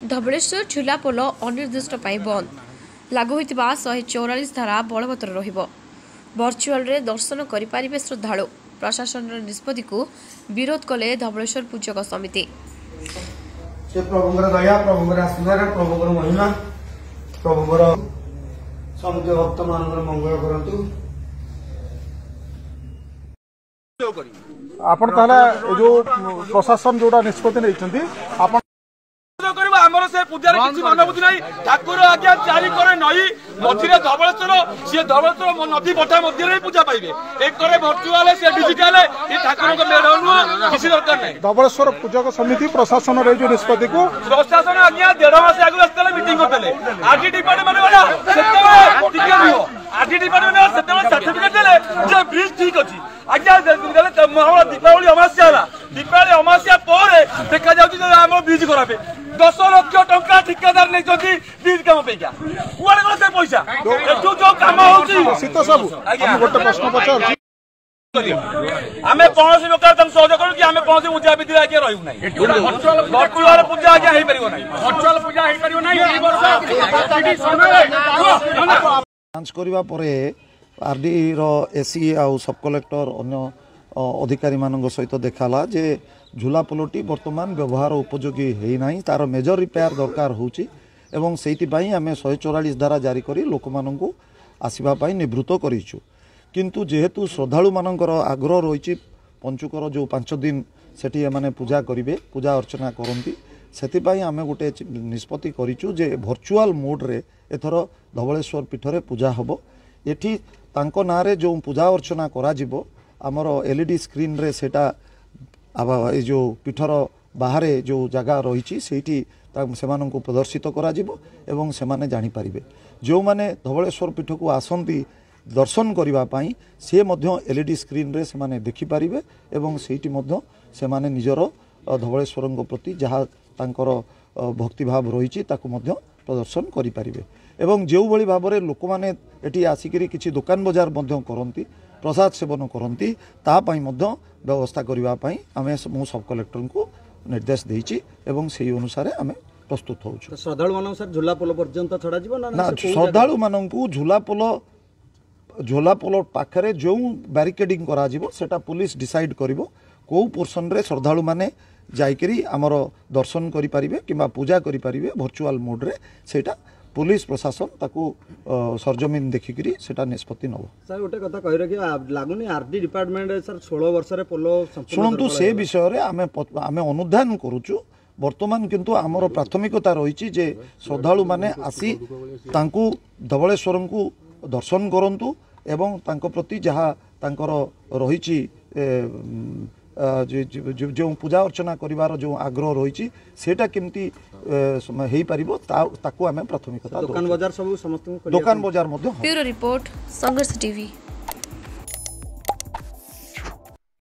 ଧବଳେଶ୍ୱର ଝୁଲା ପୋଲ ଅନିର୍ଦ୍ଦିଷ୍ଟ ପାଇଁ ବନ୍ଦ। ଲାଗୁ ହୋଇଥିବା 144 ଧାରା ବଳବତ୍ତର ରହିବ। ଭର୍ଚୁଆଲରେ ଦର୍ଶନ କରିପାରିବେ ଶ୍ରଦ୍ଧାଳୁ। ପ୍ରଶାସନର ନିଷ୍ପତ୍ତିକୁ ବିରୋଧ କଲେ ଧବଳେଶ୍ୱର ପୂଜକ ସମିତି। ସେ ପ୍ରଭୁଙ୍କର ଦୟା, ପ୍ରଭୁଙ୍କର ଆଶୀର୍ବାଦ, ପ୍ରଭୁଙ୍କର ମହିମା, ପ୍ରଭୁଙ୍କର ସମୁଦ୍ର ଭକ୍ତମାନଙ୍କର ମଙ୍ଗଳ କରନ୍ତୁ। ଆପଣ ତାହେଲେ ଏ ଯୋଉ ପ୍ରଶାସନ ଯୋଉଟା ନିଷ୍ପତ୍ତି ନେଇଛନ୍ତି, ଆପଣ କରିବ? ଆମର ସେ ପୂଜାରେ କିଛି ମନବୁଦ୍ଧି ନାହିଁ। ଠାକୁର ଆଜ୍ଞା ଚାରି କରେ ନଈ, ମଝିରେ ଧବଳେଶ୍ୱର। ସିଏ ଧବଳେଶ୍ୱର ନଦୀ ପଠା ମଧ୍ୟରେ ହିଁ ପୂଜା ପାଇବେ। ଏକରେ ଭର୍ଚୁଆଲ, ସେ ଡିଜିଟାଲ, ଏ ଠାକୁରଙ୍କ ମେଢ ନୁହଁ, କିଛି ଦରକାର ନାହିଁ। ଧବଳେଶ୍ୱର ପୂଜକ ସମିତି ପ୍ରଶାସନର ଏଇ ଯୋଉ ନିଷ୍ପତ୍ତିକୁ, ପ୍ରଶାସନ ଆଜ୍ଞା ଦେଢ ମାସ ଆଗରୁ ଆସିଥିଲେ, ମିଟିଂ କରିଥିଲେ। ଆଜି ଡିପାର୍ଟମେଣ୍ଟ ବାଲା ସେତେବେଳେ, ଟିକେ ରୁହ, ଆଜି ଡିପାର୍ଟମେଣ୍ଟ ସେତେବେଳେ ସାର୍ଟିଫିକେଟ ଦେଲେ ଯେ ବ୍ରିଜ ଠିକ ଅଛି ଆଜ୍ଞା। ଆମର ଦୀପାବଳି ଅମାବାସ୍ୟା ହେଲା, ଦୀପାବଳି ଅମାବାସ୍ୟା ପରେ ଦେଖାଯାଉଛି ଯେ ଆମର ବ୍ରିଜ ଖରାପ। 10 ଲକ୍ଷ ଟଙ୍କା ଠିକାଦାର ନେଇଛନ୍ତି ବ୍ରିଜ କାମ ପାଇଁକା। କୁଆଡେ ଗଲା ସେ ପଇସା? ଏଠୁ ଯୋଉ କାମ ହଉଛି। ଶୀତ ସବୁ ମୁଁ ଗୋଟେ ପ୍ରଶ୍ନ ପଚାରୁଛି। ଆମେ କୌଣସି ପ୍ରକାର ତାଙ୍କୁ ସହଯୋଗ କରୁ କି ଆମେ କୌଣସି ପୂଜା ବିଧିରେ ଆଜ୍ଞା ରହିବୁ ନାହିଁ। ଭର୍ଚୁଆଲ ପୂଜା ଆଜ୍ଞା ହେଇପାରିବ ନାହିଁ, ଭର୍ଚୁଆଲ ପୂଜା ହେଇପାରିବ ନାହିଁ। ଯାଞ୍ଚ କରିବା ପରେ ଆର୍ଡିର ଏସି ଆଉ ସବ୍ କଲେକ୍ଟର ଅନ୍ୟ ଅଧିକାରୀମାନଙ୍କ ସହିତ ଦେଖାଲା ଯେ ଝୁଲା ପୋଲଟି ବର୍ତ୍ତମାନ ବ୍ୟବହାର ଉପଯୋଗୀ ହେଇନାହିଁ, ତାର ମେଜର ରିପେୟାର ଦରକାର ହେଉଛି ଏବଂ ସେଇଥିପାଇଁ ଆମେ 144 ଧାରା ଜାରି କରି ଲୋକମାନଙ୍କୁ ଆସିବା ପାଇଁ ନିବୃତ୍ତ କରିଛୁ। କିନ୍ତୁ ଯେହେତୁ ଶ୍ରଦ୍ଧାଳୁମାନଙ୍କର ଆଗ୍ରହ ରହିଛି, ପଞ୍ଚୁକର ଯେଉଁ 5 ଦିନ ସେଠି ଏମାନେ ପୂଜା କରିବେ, ପୂଜା ଅର୍ଚ୍ଚନା କରନ୍ତି, ସେଥିପାଇଁ ଆମେ ଗୋଟେ ନିଷ୍ପତ୍ତି କରିଛୁ ଯେ ଭର୍ଚୁଆଲ ମୋଡ଼ରେ ଏଥର ଧବଳେଶ୍ୱର ପୀଠରେ ପୂଜା ହେବ। ଏଠି ତାଙ୍କ ନାଁରେ ଯେଉଁ ପୂଜା ଅର୍ଚ୍ଚନା କରାଯିବ, ଆମର ଏଲ୍ ଇ ଡି ସ୍କ୍ରିନ୍ରେ ସେଇଟା ଏ ଯେଉଁ ପୀଠର ବାହାରେ ଯେଉଁ ଜାଗା ରହିଛି ସେଇଠି ସେମାନଙ୍କୁ ପ୍ରଦର୍ଶିତ କରାଯିବ ଏବଂ ସେମାନେ ଜାଣିପାରିବେ। ଯେଉଁମାନେ ଧବଳେଶ୍ୱର ପୀଠକୁ ଆସନ୍ତି ଦର୍ଶନ କରିବା ପାଇଁ, ସିଏ ମଧ୍ୟ ଏଲ୍ ଇ ଡି ସ୍କ୍ରିନ୍ରେ ସେମାନେ ଦେଖିପାରିବେ ଏବଂ ସେଇଠି ମଧ୍ୟ ସେମାନେ ନିଜର ଧବଳେଶ୍ୱରଙ୍କ ପ୍ରତି ଯାହା ତାଙ୍କର ଭକ୍ତିଭାବ ରହିଛି ତାକୁ ମଧ୍ୟ ପ୍ରଦର୍ଶନ କରିପାରିବେ। ଏବଂ ଯେଉଁଭଳି ଭାବରେ ଲୋକମାନେ ଏଠି ଆସିକରି କିଛି ଦୋକାନ ବଜାର ମଧ୍ୟ କରନ୍ତି, ପ୍ରସାଦ ସେବନ କରନ୍ତି, ତା ପାଇଁ ମଧ୍ୟ ବ୍ୟବସ୍ଥା କରିବା ପାଇଁ ଆମେ, ମୁଁ ସବ୍ କଲେକ୍ଟରଙ୍କୁ ନିର୍ଦ୍ଦେଶ ଦେଇଛି ଏବଂ ସେଇ ଅନୁସାରେ ଆମେ ପ୍ରସ୍ତୁତ ହେଉଛୁ। ଶ୍ରଦ୍ଧାଳୁମାନଙ୍କୁ ସାର୍ ଝୁଲା ପୋଲ ପର୍ଯ୍ୟନ୍ତ ଛଡ଼ାଯିବ ନା? ଶ୍ରଦ୍ଧାଳୁମାନଙ୍କୁ ଝୁଲା ପୋଲ, ଝୋଲା ପୋଲ ପାଖରେ ଯେଉଁ ବ୍ୟାରିକେଡ଼ିଂ କରାଯିବ ସେଟା ପୋଲିସ ଡିସାଇଡ୍ କରିବ, କେଉଁ ପୋର୍ସନରେ ଶ୍ରଦ୍ଧାଳୁମାନେ ଯାଇକରି ଆମର ଦର୍ଶନ କରିପାରିବେ କିମ୍ବା ପୂଜା କରିପାରିବେ ଭର୍ଚୁଆଲ ମୋଡ଼ରେ, ସେଇଟା ପୋଲିସ ପ୍ରଶାସନ ତାକୁ ସରଜମିନ ଦେଖିକରି ସେଇଟା ନିଷ୍ପତ୍ତି ନେବ। ସାର୍, ଗୋଟେ କଥା କହି ରଖିବା, ଲାଗୁନି ଆର୍ଡି ଡିପାର୍ଟମେଣ୍ଟ ସାର୍ 16 ବର୍ଷରେ ପୋଲ? ଶୁଣନ୍ତୁ, ସେ ବିଷୟରେ ଆମେ ଅନୁଧ୍ୟାନ କରୁଛୁ ବର୍ତ୍ତମାନ, କିନ୍ତୁ ଆମର ପ୍ରାଥମିକତା ରହିଛି ଯେ ଶ୍ରଦ୍ଧାଳୁମାନେ ଆସି ତାଙ୍କୁ ଧବଳେଶ୍ୱରଙ୍କୁ ଦର୍ଶନ କରନ୍ତୁ ଏବଂ ତାଙ୍କ ପ୍ରତି ଯାହା ତାଙ୍କର ରହିଛି, ଯେଉଁ ପୂଜା ଅର୍ଚ୍ଚନା କରିବାର ଯେଉଁ ଆଗ୍ରହ ରହିଛି, ସେଇଟା କେମିତି ହେଇପାରିବ ତାକୁ ଆମେ ପ୍ରାଥମିକତା। ଦୋକାନ ବଜାର ସବୁ ସମସ୍ତଙ୍କୁ ଦୋକାନ ବଜାର ମଧ୍ୟ। ବ୍ୟୁରୋ ରିପୋର୍ଟ, ସଂଘର୍ଷ ଟିଭି।